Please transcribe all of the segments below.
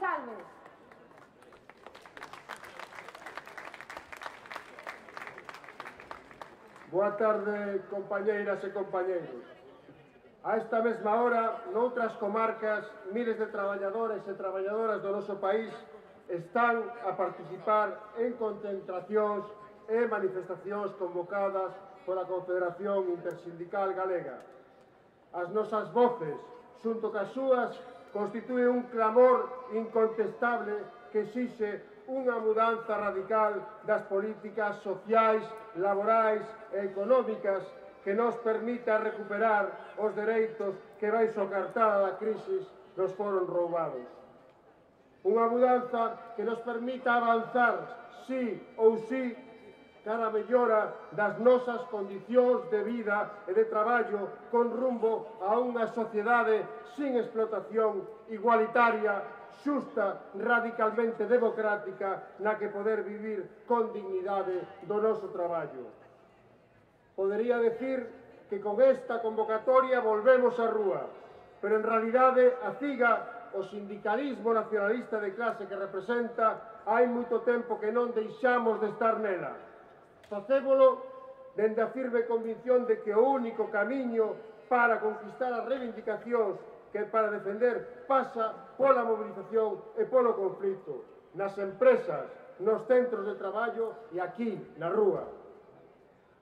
Salves. Boa tarde, compañeiras e compañeiros. A esta mesma hora, noutras comarcas, miles de traballadoras e traballadoras do noso país están a participar en concentracións e manifestacións convocadas pola Confederación Intersindical Galega. As nosas voces, xunto cas súas, constitúen un clamor incontestable que exixe unha mudanza radical das políticas sociais, laborais e económicas que nos permita recuperar os dereitos que baixo a cartada da crise nos foron roubados. Unha mudanza que nos permita avanzar, sí ou sí, cara a mellora das nosas condicións de vida e de traballo con rumbo a unha sociedade sin explotación, igualitaria, xusta, radicalmente democrática, na que poder vivir con dignidade do noso traballo. Podería decir que con esta convocatoria volvemos á rúa, pero en realidade a CIGA, o sindicalismo nacionalista de clase que representa, hai moito tempo que non deixamos de estar nela. Facémolo dende a firme convicción de que o único camiño para conquistar as reivindicacións que para defender pasa pola mobilización e polo conflito, nas empresas, nos centros de traballo e aquí, na rúa.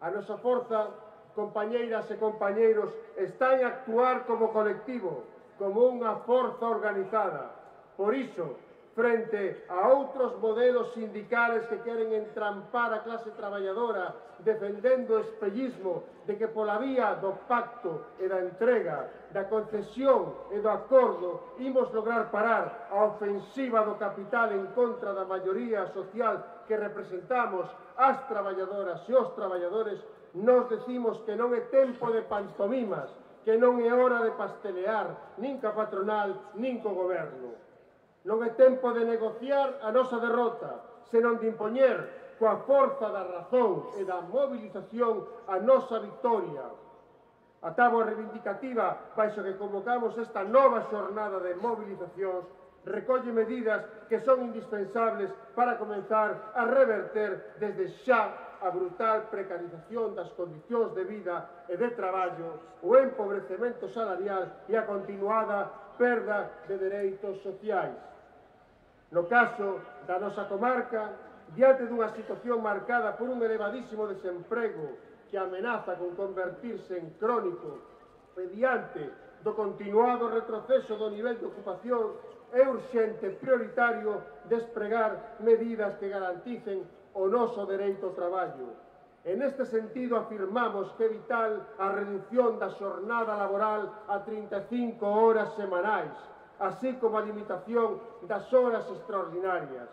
A nosa forza, compañeiras e compañeiros, está en actuar como colectivo, como unha forza organizada. Por iso, frente a outros modelos sindicales que queren entrampar a clase traballadora defendendo o espellismo de que pola vía do pacto e da entrega, da concesión e do acordo imos lograr parar a ofensiva do capital en contra da maioría social que representamos as traballadoras e os traballadores, nos decimos que non é tempo de pantomimas, que non é hora de pastelear nin ca patronal nin co goberno. Non é tempo de negociar a nosa derrota, senón de impoñer coa forza da razón e da movilización a nosa victoria. A táboa reivindicativa, baixo que convocamos esta nova xornada de movilizacións, recolle medidas que son indispensables para comenzar a reverter desde xa a brutal precarización das condicións de vida e de traballo, o empobrecemento salarial e a continuada perda de dereitos sociais. No caso da nosa comarca, diante dunha situación marcada por un elevadísimo desemprego que amenaza con convertirse en crónico e diante do continuado retroceso do nivel de ocupación, é urxente e prioritario despregar medidas que garanticen o noso dereito ao traballo. En este sentido, afirmamos que é vital a reducción da xornada laboral a 35 horas semanais, así como a limitación das horas extraordinarias.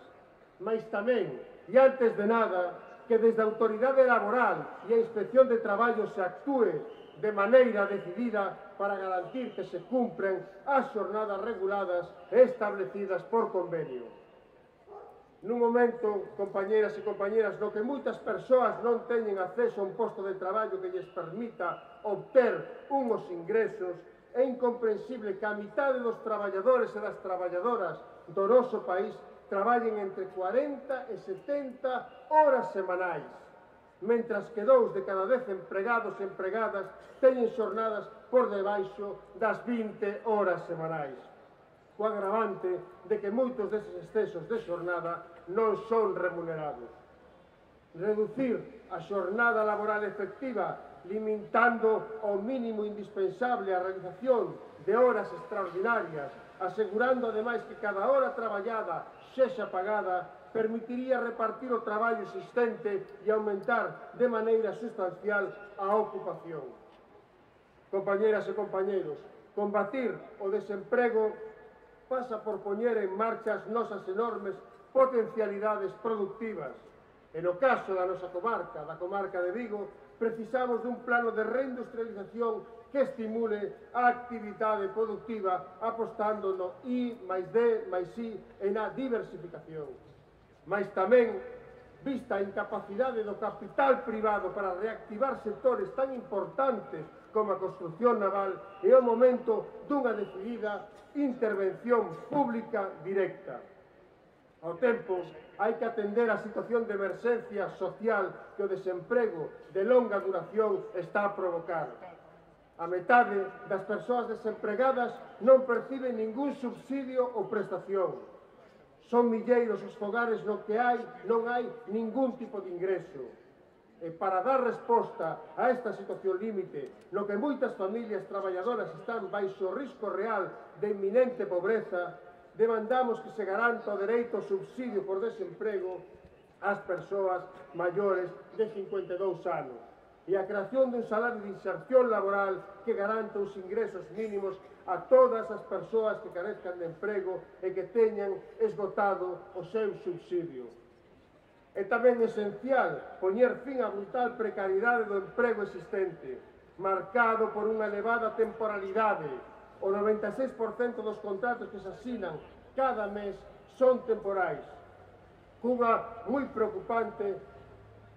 Mais tamén, e antes de nada, que desde a Autoridade Laboral e a Inspección de Traballo se actúe de maneira decidida para garantir que se cumpren as xornadas reguladas e establecidas por convenio. Nun momento, compañeras e compañeras, no que moitas persoas non teñen acceso a un posto de traballo que lles permita obter unhos ingresos, é incomprensible que a mitade dos traballadores e das traballadoras do noso país traballen entre 40 e 70 horas semanais, mentras que 2 de cada 10 empregados e empregadas teñen xornadas por debaixo das 20 horas semanais, co agravante de que moitos deses excesos de xornada non son remunerados. Reducir a xornada laboral efectiva limitando ao mínimo indispensable a realización de horas extraordinarias, asegurando ademais que cada hora traballada sexa pagada, permitiría repartir o traballo existente e aumentar de maneira sustancial a ocupación. Compañeras e compañeiros, combatir o desemprego pasa por poñer en marcha as nosas enormes potencialidades productivas. E no caso da nosa comarca, da comarca de Vigo, precisamos dun plano de reindustrialización que estimule a actividade productiva apostando no I+D+I e na diversificación. Mas tamén vista a incapacidade do capital privado para reactivar sectores tan importantes como a construción naval, é o momento dunha decidida intervención pública directa. Ao tempo, hai que atender a situación de emerxencia social que o desemprego de longa duración está a provocar. A metade das persoas desempregadas non perciben ningún subsidio ou prestación. Son milleiros os fogares no que non hai ningún tipo de ingreso. E para dar resposta a esta situación límite, no que moitas familias traballadoras están baixo risco real de inminente pobreza, demandamos que se garanta o dereito ao subsidio por desemprego ás persoas maiores de 52 anos e a creación dun salario de inserción laboral que garanta os ingresos mínimos a todas as persoas que carezcan de emprego e que teñan esgotado o seu subsidio. É tamén esencial poñer fin á brutal precariedade do emprego existente, marcado por unha elevada temporalidade. O 96% dos contratos que se asinan cada mes son temporais, cunha moi preocupante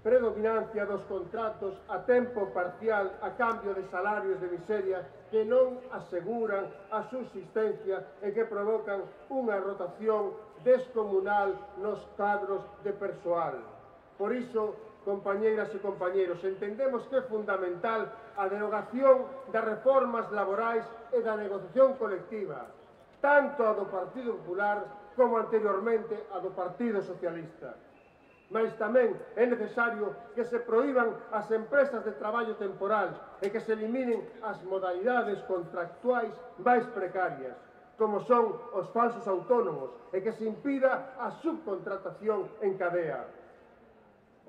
predominancia dos contratos a tempo parcial a cambio de salarios de miseria que non aseguran a subsistencia e que provocan unha rotación descomunal nos cadros de persoal. Por iso, compañeiras e compañeiros, entendemos que é fundamental a derogación das reformas laborais e da negociación colectiva, tanto a do Partido Popular como anteriormente a do Partido Socialista. Mas tamén é necesario que se proíban as empresas de traballo temporal e que se eliminen as modalidades contractuais máis precarias, como son os falsos autónomos, e que se impida a subcontratación en cadea.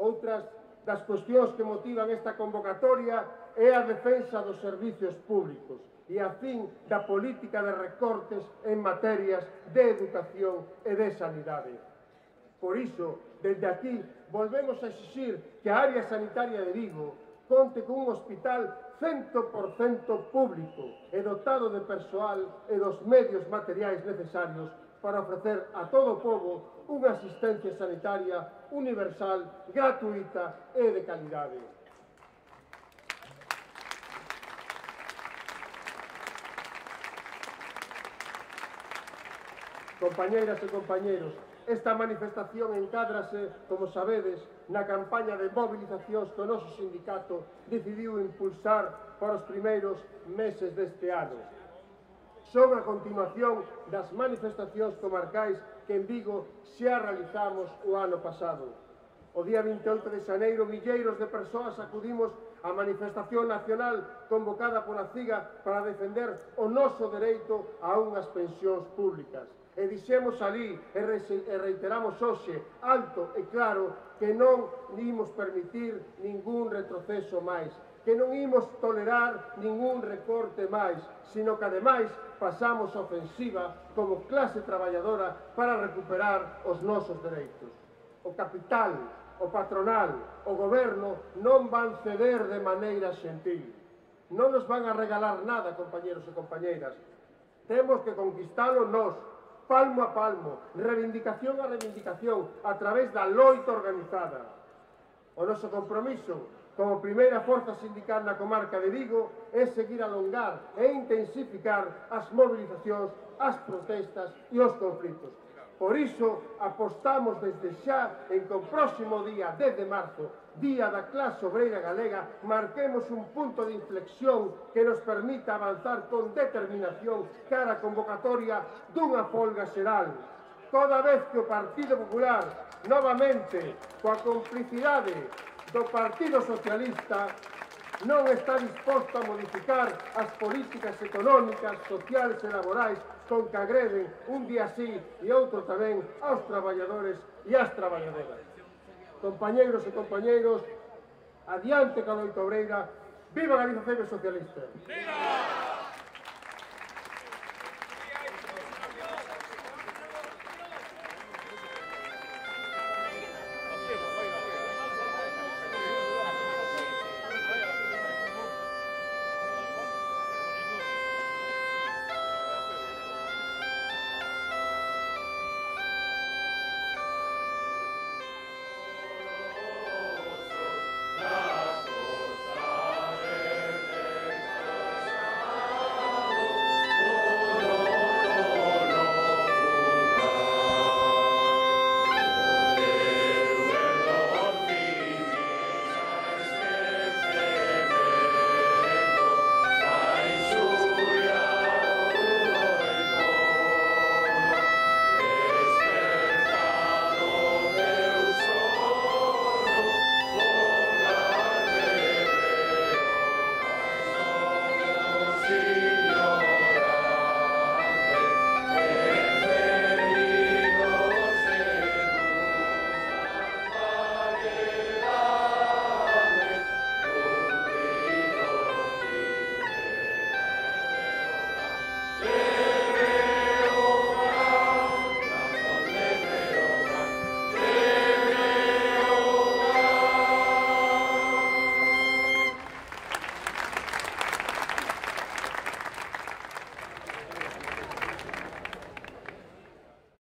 Outras das cuestións que motivan esta convocatoria é a defensa dos servicios públicos e a fin da política de recortes en materias de educación e de sanidade. Por iso, desde aquí, volvemos a exixir que a área sanitaria de Vigo conte con un hospital 100% público e dotado de persoal e dos medios materiais necesarios para ofrecer a todo o pobo unha asistencia sanitaria universal, gratuita e de calidade. Compañeiras e compañeiros, esta manifestación encádrase, como sabedes, na campaña de movilizacións que o noso sindicato decidiu impulsar para os primeiros meses deste ano. Son a continuación das manifestacións comarcais que en Vigo xa realizamos o ano pasado. O día 28 de xaneiro, milleiros de persoas acudimos á manifestación nacional convocada pola CIGA para defender o noso dereito a unhas pensións públicas. E dixemos alí e reiteramos hoxe, alto e claro, que non imos permitir ningún retroceso máis, que non imos tolerar ningún recorte máis, sino que ademais pasamos a ofensiva como clase traballadora para recuperar os nosos dereitos. O capital, o patronal, o goberno non van ceder de maneira xentil. Non nos van a regalar nada, compañeros e compañeiras. Temos que conquistalo nós, palmo a palmo, reivindicación a reivindicación, a través da loita organizada. O noso compromiso, como primeira forza sindical na comarca de Vigo, é seguir a alongar e intensificar as movilizacións, as protestas e os conflitos. Por iso, apostamos desde xa en que o próximo día 10 de marzo, Día da Clase Obreira Galega, marquemos un punto de inflexión que nos permita avanzar con determinación cara a convocatoria dunha folga xeral. Toda vez que o Partido Popular, novamente, coa complicidade do Partido Socialista, non está disposto a modificar as políticas económicas, sociales e laborais con que agreden un día sí e outro tamén aos traballadores e ás traballadoras. Compañeiros e compañeiros, adiante ca loita obreira, viva Galiza CEB Socialista! Viva! así.